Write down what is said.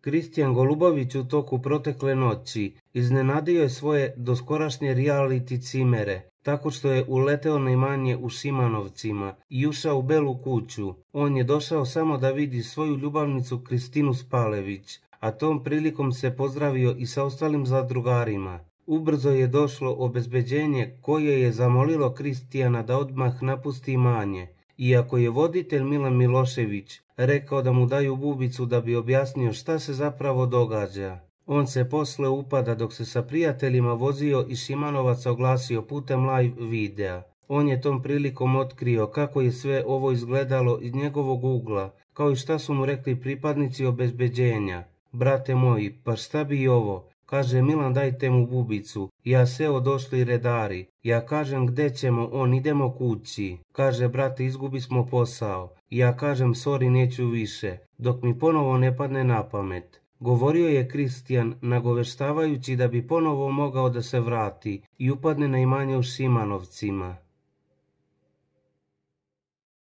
Kristijan Golubović u toku protekle noći iznenadio je svoje doskorašnje reality cimere, tako što je uleteo na imanje u Šimanovcima i ušao u Belu kuću. On je došao samo da vidi svoju ljubavnicu Kristinu Spalević, a tom prilikom se pozdravio i sa ostalim zadrugarima. Ubrzo je došlo obezbeđenje koje je zamolilo Kristijana da odmah napusti imanje, iako je voditelj Milan Milošević rekao da mu daju bubicu da bi objasnio šta se zapravo događa. On se posle upada dok se sa prijateljima vozio i Šimanovaca oglasio putem live videa. On je tom prilikom otkrio kako je sve ovo izgledalo iz njegovog ugla, kao i šta su mu rekli pripadnici obezbeđenja. Brate moji, pa šta bi ovo? Kaže Milan, dajte mu bubicu. Ja seo, došli redari. Ja kažem gde ćemo, on idemo kući. Kaže brate, izgubi smo posao. Ja kažem sorry, neću više, dok mi ponovo ne padne na pamet. Govorio je Kristijan nagoveštavajući da bi ponovo mogao da se vrati i upadne na imanje u Šimanovcima.